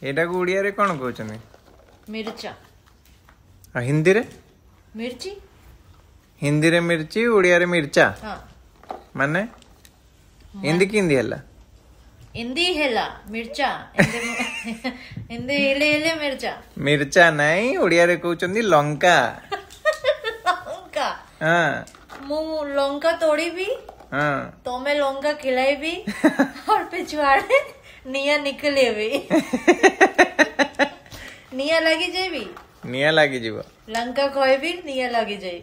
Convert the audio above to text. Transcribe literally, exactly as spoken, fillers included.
ଏଇଟାକୁ ଓଡ଼ିଆରେ କ'ଣ କହୁଛନ୍ତି? ମିର୍ଚା। ଆଉ ହିନ୍ଦୀରେ? ମିର୍ଚି। ହିନ୍ଦୀରେ ମିର୍ଚି, ଓଡ଼ିଆରେ ମିର୍ଚା। ହଁ। ମାନେ ହିନ୍ଦୀ କେମିତି ହେଲା? ହିନ୍ଦୀ ହେଲା ମିର୍ଚା, ହିନ୍ଦୀ ହେଲେ ହେଲେ ମିର୍ଚା। ମିର୍ଚା ନାଇଁ, ଓଡ଼ିଆରେ କହୁଛନ୍ତି ଲଙ୍କା। ଲଙ୍କା। ହଁ। ମୁଁ ଲଙ୍କା ତୋଡ଼ିବି, ହଁ, ତମେ ଲଙ୍କା ଖିଲାଇବି, और ପିଛୁଆଡ଼େ ନିଆଁ ନିକଲେବି, ନିଆଁ ଲାଗିଯାଇବି। ନିଆଁ ଲାଗିଯିବ। ଲଙ୍କା କହିବି, ନିଆଁ ଲାଗିଯାଇ।